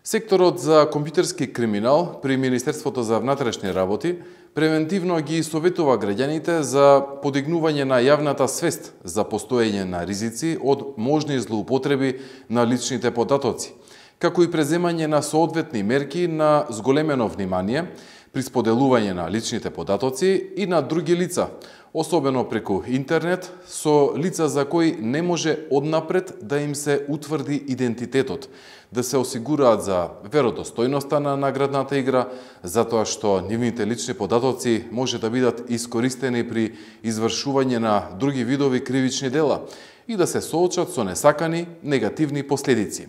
Секторот за компјутерски криминал при Министерството за внатрешни работи превентивно ги советува граѓаните за подигнување на јавната свест за постоење на ризици од можни злоупотреби на личните податоци, како и преземање на соодветни мерки на зголемено внимание при споделување на личните податоци и на други лица, особено преку интернет, со лица за кои не може однапред да им се утврди идентитетот, да се осигураат за веродостојноста на наградната игра, затоа што нивните лични податоци може да бидат искористени при извршување на други видови кривични дела и да се соочат со несакани негативни последици.